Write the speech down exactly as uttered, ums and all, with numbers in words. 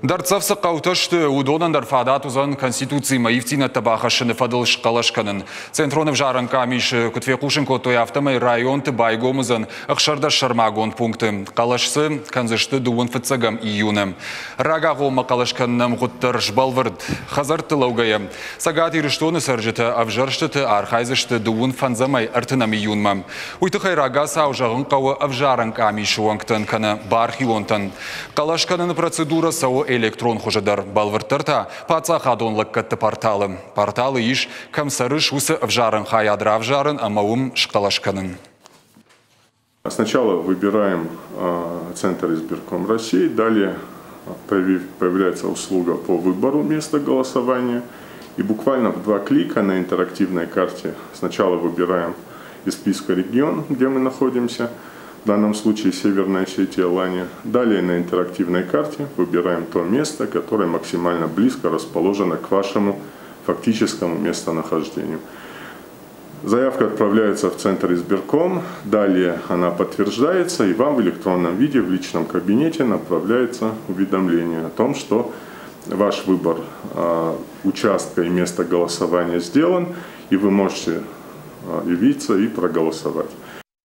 Дӕрддзӕф цы хъӕутӕ сты, уыдонӕн дӕр фадат уыдзӕн Конституцимӕ ивддзинӕдтӕ бахӕссыны фӕдыл схъӕлӕс кӕнын. Центрон ӕвзарӕн къамисы куыд фехъусын кодтой, афтӕмӕй районты байгом уыдзӕн ӕхсӕрдӕс сӕрмагонд пункты. Хъӕлӕс дзы кӕндзысты дыууын фыццӕгӕм июны. Рагагъоммӕ хъӕлӕс кӕныны ӕмгъуыд дӕр сбӕлвырд. Хӕдзӕртты лӕугӕйӕ Цӕгат Ирыстоны цӕрджытӕ ӕвзӕрстыты архайдзысты дыууын фӕндзӕмӕй ӕртынӕм июнмӕ. Уый тыххӕй рагацау зӕгъын хъӕуы ӕвзарӕн къамисы уӕнгтӕн кӕнӕ бархионтӕн. Хъӕлӕс кӕныны процедурӕ цӕуы электрон хуызы дӕр, бӕлвырддӕр та паддзахадон лӕггӕдты порталы. Порталы ис, кӕм цӕрыс, уыцы ӕвзарӕн хайад равзарын ӕмӕ уым схъӕлӕс кӕнын. Сначала выбираем Центр избирком России, далее появляется услуга по выбору места голосования. И буквально в два клика на интерактивной карте сначала выбираем из списка регион, где мы находимся, в данном случае Северная Осетия, Алания. Далее на интерактивной карте выбираем то место, которое максимально близко расположено к вашему фактическому местонахождению. Заявка отправляется в Центр избирком, далее она подтверждается, и вам в электронном виде в личном кабинете направляется уведомление о том, что ваш выбор э, участка и места голосования сделан, и вы можете э, явиться и проголосовать.